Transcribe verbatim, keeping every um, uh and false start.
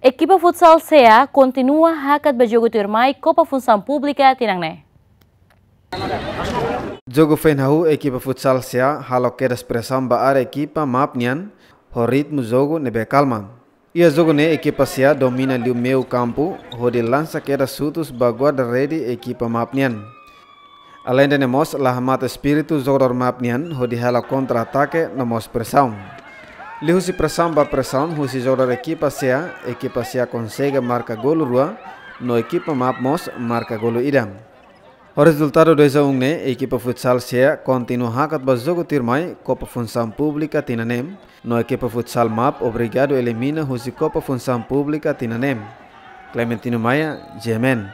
Ekipa futsal SEA kontinua hakat ba jogu tuirmai Kopa Funsaun Públika tinan ne'e. Jogu foin hahú ekipa futsal SEA halo kedas presaun ba área ekipa MAP nian, ho ritmu jogu ne'ebé kalma. Iha jogu ne'e ekipa SEA domina liu meiu kampu, hodi lansa kedas xutus ba guarda-rede ekipa MAP nian. Aleinde ne'e mós la hamate espíritu jogadór MAP nian, hodi halo kontra-atake no mós presaun. Liuhusi presaun ba presaun husi jogadór ekipa SEA, ekipa SEA konsege marka golu rua, no ekipa MAP mós marka golu ida. Ho rezultadu dois a um ne'e, ekipa futsal SEA kontinua hakat ba jogu tuirmai Kopa Funsaun Públika tinan ne'e, no ekipa futsal MAP obrigadu elimina husi Kopa Funsaun Públika tinan ne'e. Clementino Maia, G M N.